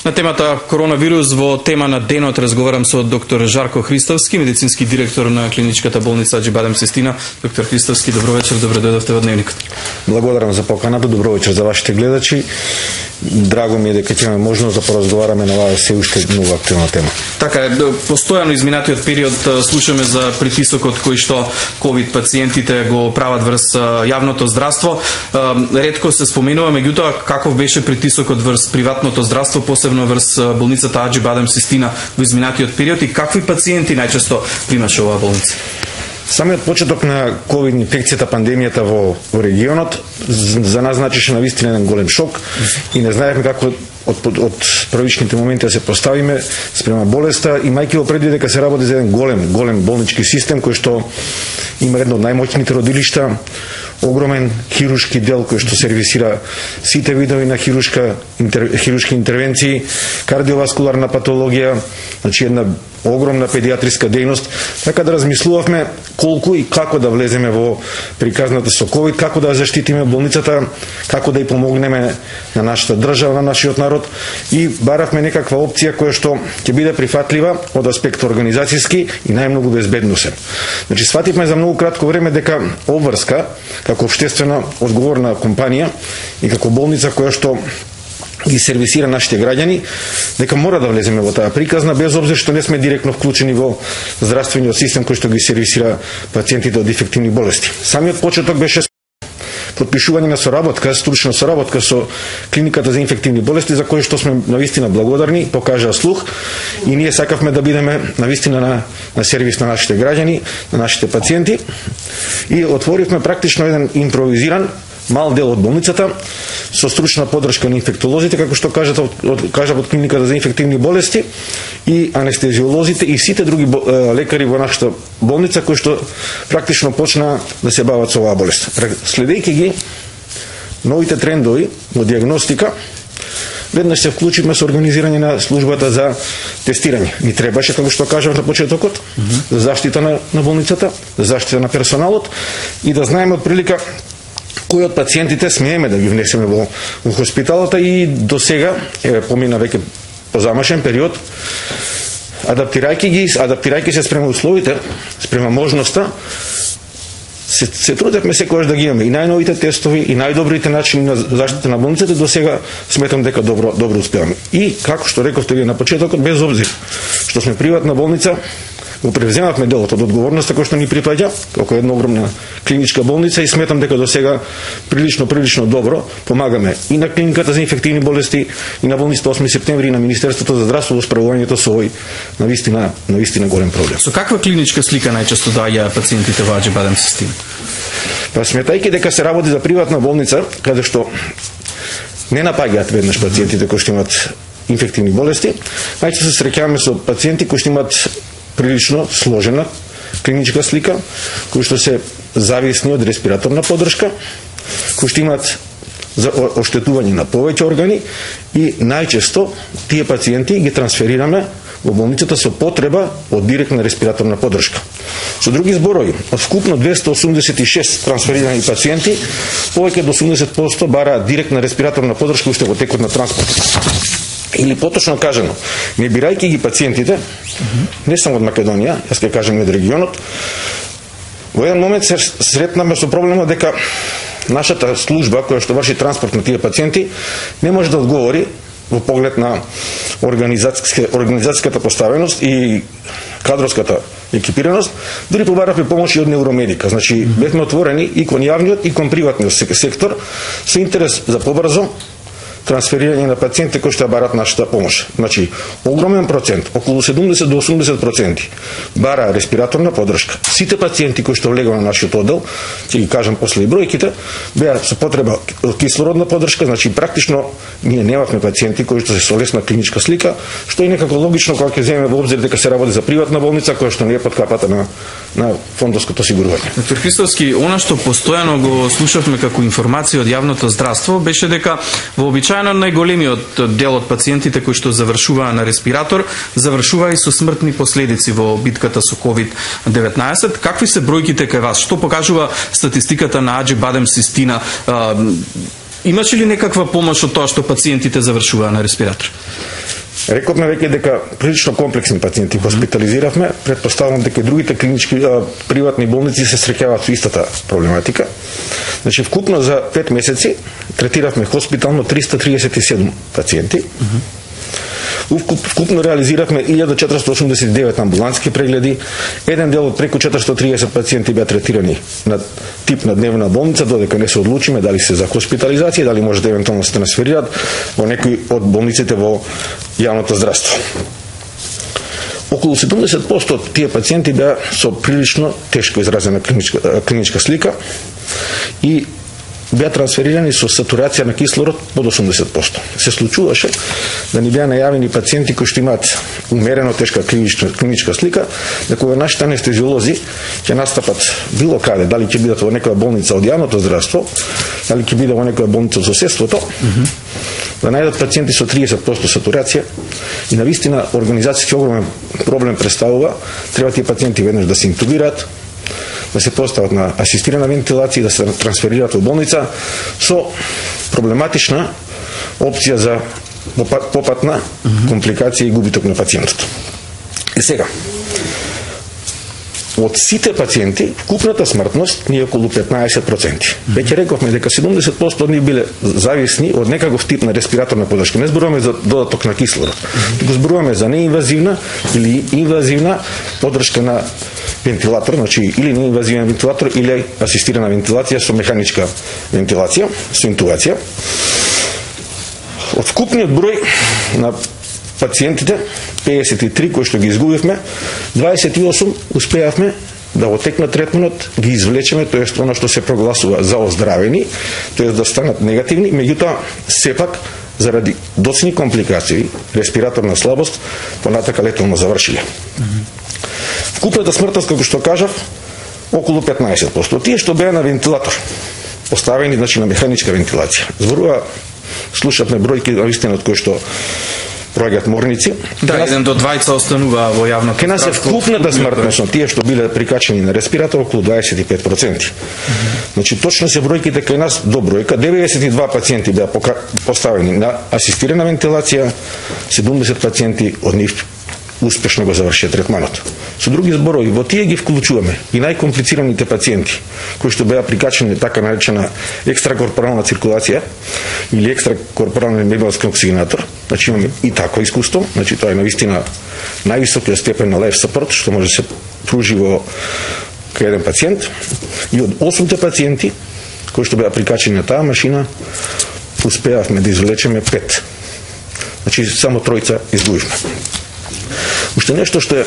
На темата коронавирус во тема на денот разговарам со доктор Жарко Христовски, медицински директор на клиничката болница Аџи Бадем Систина. Доктор Христовски, добро вечер, добре дојдовте во Дневникот. Благодарам за поканата, добро вечер за вашите гледачи. Драго ми е дека ќе имаме можност да поразговараме на оваа се уште многу актуелна тема. Така е, постојано изминатиот период слушаме за притисокот кој што ковид пациентите го прават врз јавното здравство. Ретко се споменува, меѓутоа каков беше притисокот врз приватното здравство, посебно врз болницата Аџи Бадем Систина во изминатиот период и какви пациенти најчесто примаше оваа болница? Самиот почеток на ковид инфекцијата, пандемијата во регионот за нас значеше навистина еден голем шок и не знаевме како од првичните моменти да се поставиме спрема болеста, имајќи во предвид дека се работи за еден голем болнички систем кој што има едно од најмоќните родилишта, огромен хируршки дел кој што сервисира сите видови на хируршки интервенции, кардиоваскуларна патологија, значи една огромна педиатриска дејност, така да размислувавме колку и како да влеземе во приказната со ковид, како да заштитиме болницата, како да ја помогнеме на нашата држава, на нашиот народ и баравме некаква опција која што ќе биде прифатлива од аспект организацијски и најмногу безбедносен. Значи свативме за многу кратко време дека обврска како општествена одговорна компанија и како болница која што ги сервисира нашите граѓани, дека мора да влеземе во таа приказна, без обзир што не сме директно вклучени во здравствениот систем кој што ги сервисира пациентите од инфективни болести. Самиот почеток беше подпишување на соработка, стручна соработка со клиниката за инфективни болести, за кој што сме навистина благодарни, покажа слух и ние сакавме да бидеме навистина на сервис на нашите граѓани, на нашите пациенти и отворивме практично еден импровизиран мал дел од болницата со стручна поддршка на инфектолозите, како што кажат од клиниката за инфективни болести и анестезиолозите и сите други лекари во нашата болница кои што практично почна да се бават со оваа болест. Следејќи ги новите трендови во диагностика, веднаш се вклучивме со организирање на службата за тестирање. Ни требаше, како што кажав на почетокот, за заштита на болницата, за заштита на персоналот и да знаеме од прилика кои од пациентите смееме да ги внесеме во хоспиталата и до сега помина веќе позамашен период, адаптирајќи се спрема условите, спрема можноста, се трудевме секогаш да ги имаме и најновите тестови и најдобрите начини на заштита на болницата, до сега сметам дека добро успеваме. И како што рековте вие на почетокот, без обзир што сме приватна болница, го превземавме делот од одговорноста кој што ни припаѓа како една огромна клиничка болница и сметам дека до сега прилично добро помагаме и на клиниката за инфективни болести и на болницата 8 септември и на Министерството за здравство во справувањето со овој навистина голем проблем. Со каква клиничка слика најчесто доаѓаат пациентите во Аџи Бадем Систина? Па сметајќи дека се работи за приватна болница, каде што не напаѓаат веднаш пациентите кои што имаат инфективни болести, најчесто се среќаваме со пациенти кои што имаат прилично сложена клиничка слика, кои што се зависни од респираторна поддршка, кои што имаат оштетување на повеќе органи и најчесто тие пациенти ги трансферираме во болницата со потреба од директна респираторна поддршка. Со други зборови, од вкупно 286 трансферирани пациенти, повеќе од 80% бараат директна респираторна поддршка уште во текот на транспорт. Или поточно кажано, не бирајќи ги пациентите, не само од Македонија, јас ќе кажам од регионот, во еден момент се сретнаме со проблемот дека нашата служба која што врши транспорт на тие пациенти не може да одговори во поглед на организацијската поставеност и кадровската екипираност, дури побаравме помош и од невромедика. Значи, бевме отворени и кон јавниот и кон приватниот сектор со интерес за побрзо трансферирање на пациенти кои што бараат нашата помош. Значи, огромен процент, околу 70 до 80% бара респираторна поддршка. Сите пациенти кои што влегува на нашиот оддел, ќе ги кажам после и бројките, беа со потреба од кислородна поддршка, значи практично ние немавме пациенти кои што се со лесна клиничка слика, што е некако логично кога ќе земеме во обзир дека се работи за приватна болница која што не е под капата на фондовското осигурување. Доктор Христовски, она што постојано го слушавме како информација од јавното здравство беше дека вообичаено најголемиот дел од пациентите кои што завршуваа на респиратор завршуваа и со смртни последици во битката со COVID-19. Какви се бројките кај вас? Што покажува статистиката на Аџи Бадем Систина? Имаше ли некаква помош од тоа што пациентите завршуваа на респиратор? Рековме веќе дека прилично комплексни пациенти хоспитализиравме, претпоставувам дека и другите клинички приватни болници се среќаваат со истата проблематика. Значи вкупно за 5 месеци третиравме хоспитално 337 пациенти. Вкупно реализиравме 1489 амбулантски прегледи, еден дел од преку 430 пациенти беа третирани на тип на дневна болница, додека не се одлучиме дали се за хоспитализација, дали може да евентуално се трансферираат во некои од болниците во јавното здравство. Околу 70% од тие пациенти беа со прилично тешко изразена клиничка слика и беа трансферирани со сатурација на кислород под 80%. Се случуваше да ни беа најавени пациенти кои што имаат умерено тешка клиничка слика, да кога нашите анестезиолози ќе настапат било каде, дали ќе бидат во некоја болница од јавното здравство, дали ќе биде во некоја болница од соседството, да најдат пациенти со 30% сатурација и навистина организацијски огромен проблем представува, треба тие пациенти веднаш да се интубираат, да се постават на асистирана вентилација и да се трансферираат во болница со проблематична опција за попатна компликација и губиток на пациентот. И сега, од сите пациенти, вкупната смртност ни е околу 15%. Веќе рековме дека 70% од нив биле зависни од некаков тип на респираторна поддршка. Не зборуваме за додаток на кислород, туку зборуваме за неинвазивна или инвазивна поддршка на вентилатор, значи или неинвазивен вентилатор или асистирана вентилација со механичка вентилација, со интубација. Од вкупниот број на пациентите, 53 кои што ги изгубивме, 28 успеавме да во тек на третманот ги извлечеме, тоест оно што се прогласува за оздравени, тоест да станат негативни, меѓутоа сепак заради доцни компликации, респираторна слабост, понатака летално завршиле. Вкупната смртност, како што кажав, околу 15%. Тие што беа на вентилатор, поставени значи на механичка вентилација. Зборува, слушавме бројки навистина од кои што проаѓаат морници. Да, еден до двајца останува во јавното. Ке нас е вкупната смртност на тие што биле прикачени на респиратор околу 25%. Значи точно се бројките кај нас до бројка. 92 пациенти беа поставени на асистирана вентилација, 70 пациенти од нив успешно го завршија третманот. Со други зборови, во тие ги вклучуваме и најкомплицираните пациенти, кои што беа прикачени така наречена екстракорпорална циркулација или екстракорпорален мебелски оксигенатор. Значи имаме и такво искуство, значи тоа е навистина највисокиот степен на life support што може да се пружи во кај еден пациент. И од 8 пациенти кои што беа прикачени на таа машина, успеавме да извлечеме 5. Значи само 3 изгубивме. Уште нешто што е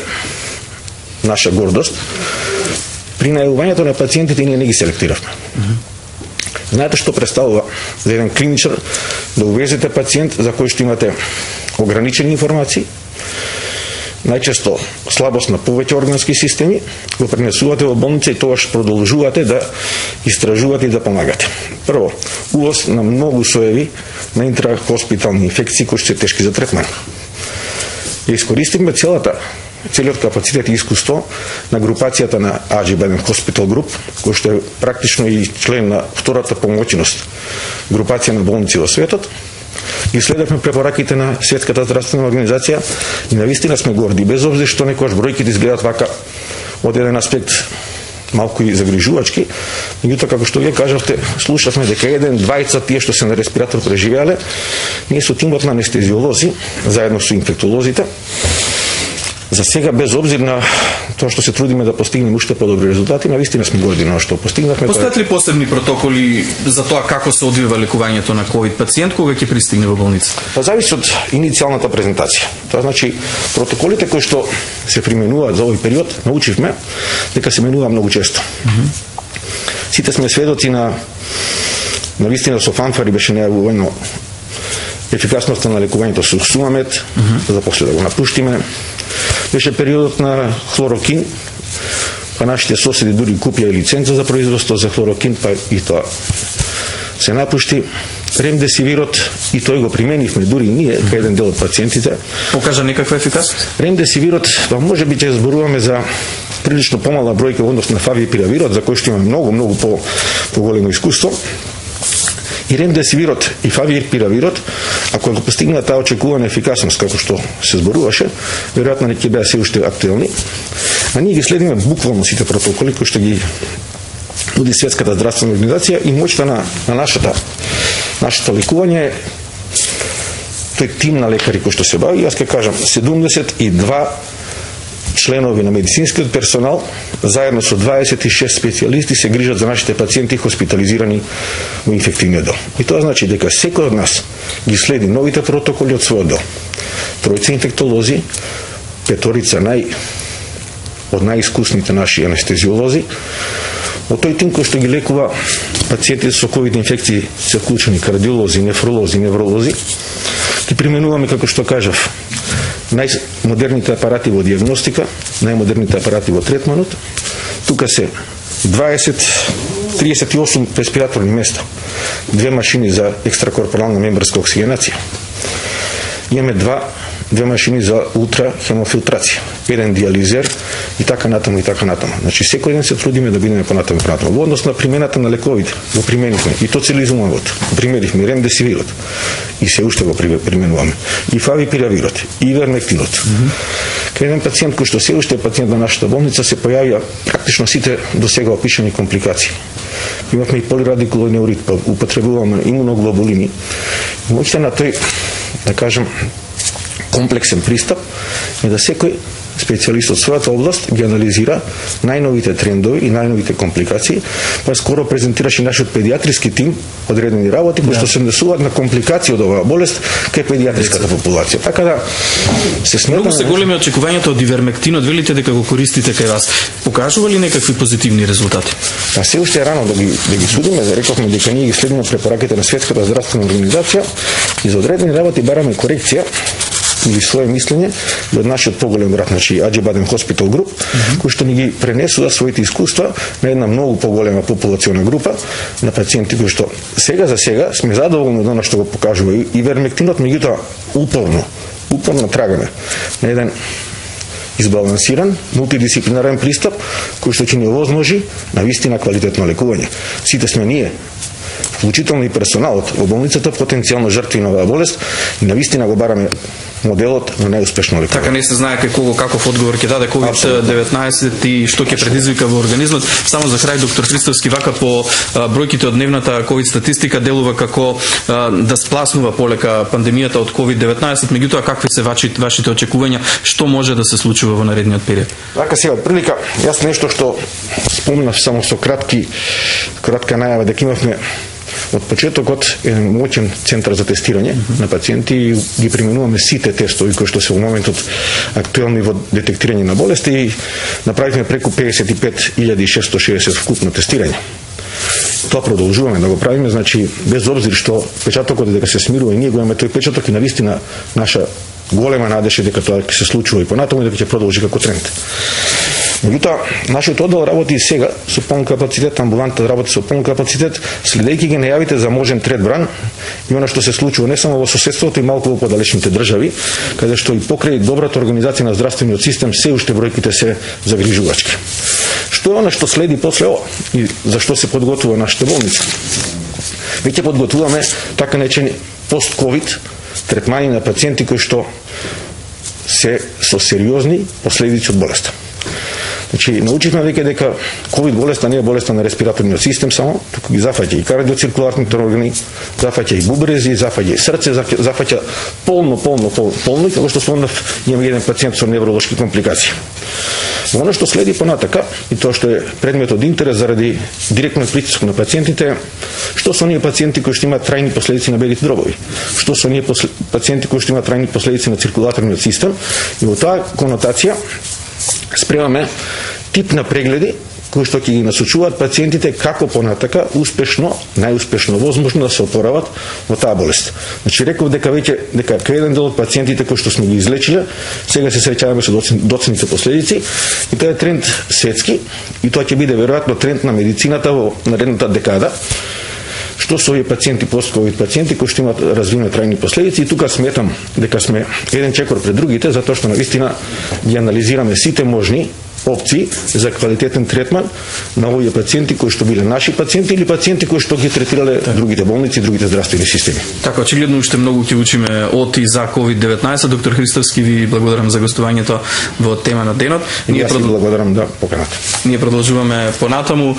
наша гордост, при најавувањето на пациентите ние не ги селектиравме. Знаете што представува за еден клиничар да увезете пациент за кој што имате ограничени информации, најчесто слабост на повеќе органски системи, го пренесувате во болница и тогаш продолжувате да истражувате и да помагате. Прво, увоз на многу соеви на интрахоспитални инфекции кои што се тешки за третман. И искористивме целиот капацитет и искуство на групацијата на AG-Biden Hospital Group, кој што е практично и член на втората помоќност групација на болници во светот. И следевме препораките на Светската здравствена организација и навистина сме горди, без обзир што некојаш бројките изгледаат вака од еден аспект малку и загрижувачки, меѓутоа како што вие кажавте, слушавме дека еден, двајца тие што се на респиратор преживеале, ние со тимот на анестезиолози, заедно со инфектолозите, за сега без обзир на тоа што се трудиме да постигнеме уште подобри резултати, навистина сме горди на што постигнавме. Постојат ли посебни протоколи за тоа како се одвива лекувањето на ковид пациент кога ќе пристигне во болница? Па зависи од иницијалната презентација. Тоа значи протоколите кои што се применуваат за овој период, научивме дека се менува многу често. Сите сме сведоци на навистина со фанфари беше најавувано ефикасноста на лекувањето со Сумамет, за после да го напуштиме. Беше периодот на хлорокин, па нашите соседи дури купија лиценца за производство за хлорокин, па и тоа се напушти. Ремдесивирот, и тој го применивме дури ние, кај еден дел од пациентите. Покажа некаква ефикасност? Ремдесивирот, па може би ќе зборуваме за прилично помала бројка во однос на фавипиравирот, за кој што има многу поголемо искуство. И ремдесивирот и фавипиравирот, ако го постигнат таа очекувана ефикасност како што се зборуваше, веројатно ќе беа се уште актуелни. А ние ги следиме буквално сите протоколи кои што ги нуди Светската здравствена организација и моќта на нашето лекување тој тим на лекари кои што се бави, јас ќе кажам 72 членови на медицинскиот персонал заедно со 26 специјалисти се грижат за нашите пациенти хоспитализирани во инфективниот дом. И тоа значи дека секој од нас ги следи новите протоколи од својот дом. Тројца инфектолози, петорица од најискусните наши анестезиолози, од тој тим кој што ги лекува пациенти со ковид инфекции се вклучени кардиолози, нефролози, невролози, ги применуваме, како што кажав, најмодерните апарати во диагностика, најмодерните апарати во третманот. Тука се 38 респираторни места, 2 машини за екстракорпорална мембранска оксигенација. Имаме две машини за ултрахемофилтрација, еден диализер и така натаму и така натаму. Значи секој ден се трудиме да бидеме понатаму. Во однос на примената на лековите, го применивме и тоцилизумабот, применивме ремдесивирот и се уште го применуваме. И фавипиравирот, и ивермектинот. Кај еден пациент кој што се уште е пациент на нашата болница се појавија практично сите до сега опишани компликации. Имавме и полирадикулоиден неурит, употребуваме имуноглобулини. Моќта на тој, да кажем, комплексен пристап е да секој специјалист од својата област ги анализира најновите трендови и најновите компликации, па скоро презентираше нашиот педиатриски тим одредени работи кои што се однесуваат на компликации од оваа болест кај педиатриската популација. Така да се сметаме. Многу се големи очекувањата од ивермектинот, велите дека го користите кај вас. Покажува ли некакви позитивни резултати? А се уште е рано да ги судиме, рековме дека ние ги следиме препораките на Светската здравствена организација и за одредени работи бараме корекција или свое мислење од нашиот поголем брат, значи Аџибаден Хоспитал Груп, кој што ни ги пренесува своите искуства на една многу поголема популациона група на пациенти кои што сега за сега сме задоволни од она што го покажува ивермектинот, меѓутоа упорно трагаме на еден избалансиран, мултидисциплинарен пристап кој што ќе ни овозможи на вистина квалитетно лекување. Сите сме ние, вклучително и персоналот во болницата, потенцијално жртви на оваа болест и на вистина го бараме моделот на најуспешно лекување. Така не се знае кај кого каков одговор ќе даде COVID-19 и што ќе предизвика во организмот. Само за крај, доктор Христовски, вака по бројките од дневната COVID статистика делува како да спласнува полека пандемијата од COVID-19, меѓутоа какви се вашите очекувања, што може да се случува во наредниот период? Така сега прилика, јас нешто што спомнав само со кратка најава дека имавме од почетокот еден моќен центар за тестирање на пациенти и ги применуваме сите тестови кои што се во моментот актуелни во детектирање на болести и направивме преку 55.660 вкупно тестирање. Тоа продолжуваме да го правиме, значи без обзир што печатокот дека се смирува и ние го имаме тој печаток и навистина наша голема надеж е дека тоа ќе се случува и понатаму и дека ќе продолжи како тренд. Меѓутоа, нашиот оддел работи и сега со полн капацитет, амбулантата работи со полн капацитет, следејќи ги најавите за можен трет бран и она што се случува не само во соседството и малку во подалечните држави, каде што и покрај добрата организација на здравствениот систем се уште бројките се загрижувачки. Што е она што следи после ова и за што се подготвува нашата болница? Веќе подготвуваме така наречени пост-ковид третмани на пациенти кои што се со сериозни последици од болеста. Значи, научивме веќе дека ковид болеста не е болеста на респираторниот систем само, туку ги зафаќа и кардиоциркуларните органи, зафаќа и бубрези, зафаќа и срце, зафаќа полно и како што спомнав, имаме еден пациент со невролошки компликации. Оно што следи понатака и тоа што е предмет од интерес заради директниот притисок на пациентите, што се оние пациенти кои што имаат трајни последици на белите дробови, што се оние пациенти кои што имаат трајни последици на циркулаторниот систем и во таа конотација спремаме тип на прегледи кои што ќе ги насочуваат пациентите како понатака успешно, најуспешно возможно да се опорават во таа болест. Значи реков дека кај еден дел од пациентите кои што сме ги излечиле, сега се среќаваме со доцните последици и тоа е тренд светски и тоа ќе биде веројатно тренд на медицината во наредната декада. Што се овие пациенти, пост-ковид пациенти кои што имаат развивени трајни последици и тука сметам дека сме еден чекор пред другите, затоа што навистина ги анализираме сите можни опции за квалитетен третман на овие пациенти кои што биле наши пациенти или пациенти кои што ги третирале другите болници и другите здравствени системи. Така, очигледно уште многу ќе учиме од и за COVID-19. Доктор Христоевски, ви благодарам за гостувањето во тема на денот. Ние благодарам да поканата. Ние продолжуваме понатаму.